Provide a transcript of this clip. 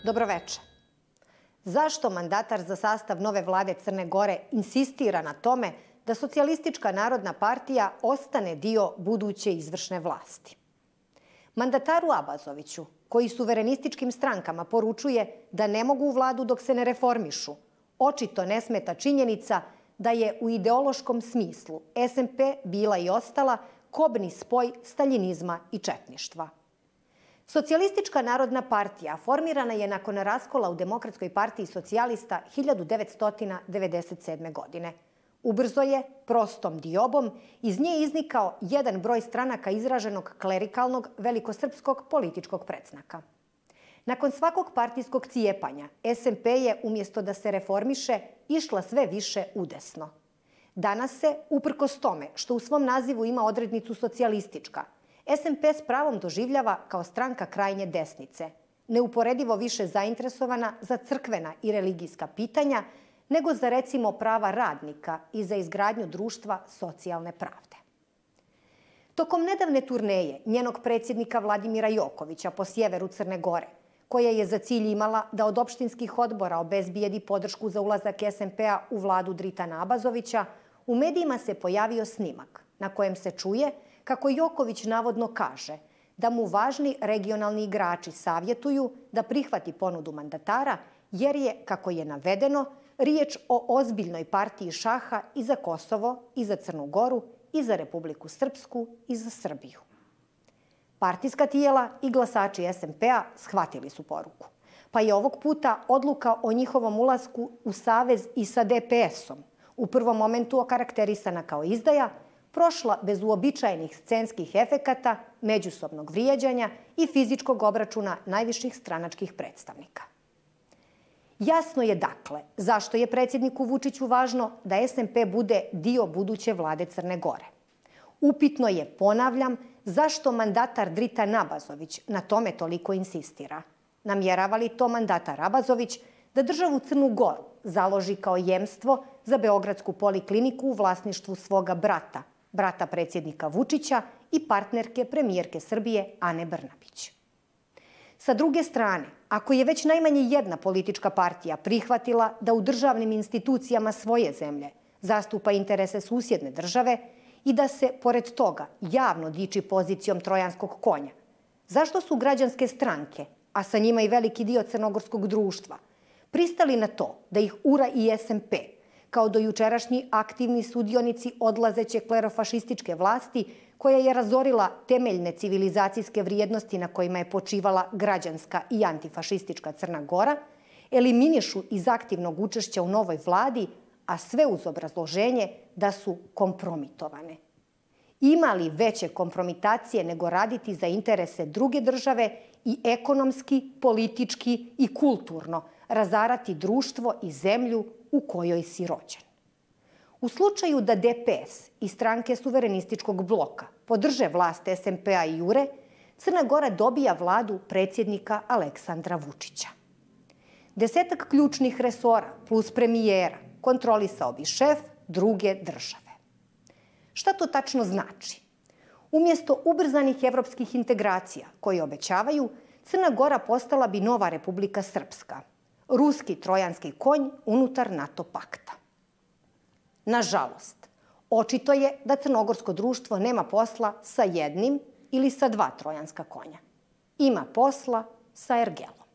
Dobroveče. Zašto mandatar za sastav nove vlade Crne Gore insistira na tome da Socijalistička narodna partija ostane dio buduće izvršne vlasti? Mandataru Abazoviću, koji suverenističkim strankama poručuje da ne mogu u vladu dok se ne reformišu, očito ne smeta činjenica da je u ideološkom smislu SMP bila i ostala kobni spoj staljinizma i četništva. Socijalistička narodna partija formirana je nakon raskola u Demokratskoj partiji socijalista 1997. godine. Ubrzo je, prostom diobom, iz nje iznikao jedan broj stranaka izraženog klerikalnog velikosrpskog političkog predznaka. Nakon svakog partijskog cijepanja, SMP je, umjesto da se reformiše, išla sve više udesno. Danas se, uprkos tome što u svom nazivu ima odrednicu socijalistička, SMP s pravom doživljava kao stranka krajnje desnice, neuporedivo više zainteresovana za crkvena i religijska pitanja nego za, recimo, prava radnika i za izgradnju društva socijalne pravde. Tokom nedavne turneje njenog predsjednika Vladimira Jokovića po sjeveru Crne Gore, koja je za cilj imala da od opštinskih odbora obezbijedi podršku za ulazak SMP-a u vladu Dritana Abazovića, u medijima se pojavio snimak na kojem se čuje kako Joković navodno kaže da mu važni regionalni igrači savjetuju da prihvati ponudu mandatara jer je, kako je navedeno, riječ o ozbiljnoj partiji šaha i za Kosovo, i za Crnu Goru, i za Republiku Srpsku, i za Srbiju. Partijska tijela i glasači SMP-a shvatili su poruku, pa je ovog puta odluka o njihovom ulasku u savez i sa DPS-om, u prvom momentu okarakterisana kao izdaja, prošla bez uobičajenih scenskih efekata, međusobnog vrijeđanja i fizičkog obračuna najviših stranačkih predstavnika. Jasno je dakle zašto je predsjedniku Vučiću važno da SMP bude dio buduće vlade Crne Gore. Upitno je, ponavljam, zašto mandatar Dritan Abazović na tome toliko insistira. Namjerava li to mandatar Abazović da državu Crnu Goru založi kao jemstvo za Beogradsku polikliniku u vlasništvu svoga brata predsjednika Vučića i partnerke premijerke Srbije Ane Brnabić? Sa druge strane, ako je već najmanje jedna politička partija prihvatila da u državnim institucijama svoje zemlje zastupa interese susjedne države i da se, pored toga, javno diči pozicijom trojanskog konja, zašto su građanske stranke, a sa njima i veliki dio crnogorskog društva, pristali na to da ih ura i SMP, kao dojučerašnji aktivni sudionici odlazeće klerofašističke vlasti koja je razorila temeljne civilizacijske vrijednosti na kojima je počivala građanska i antifašistička Crna Gora, eliminišu iz aktivnog učešća u novoj vladi, a sve uz obrazloženje da su kompromitovane. Ima li veće kompromitacije nego raditi za interese druge države i ekonomski, politički i kulturno razarati društvo i zemlju u kojoj si rođen? U slučaju da DPS i stranke suverenističkog bloka podrže vlast SMP-a i Jure, Crna Gora dobija vladu predsjednika Aleksandra Vučića. 10 ključnih resora plus premijera kontrolisao bi šef druge države. Šta to tačno znači? Umjesto ubrzanih evropskih integracija koje obećavaju, Crna Gora postala bi nova Republika Srpska, ruski trojanski konj unutar NATO pakta. Nažalost, očito je da crnogorsko društvo nema posla sa jednim ili sa dva trojanska konja. Ima posla sa ergelom.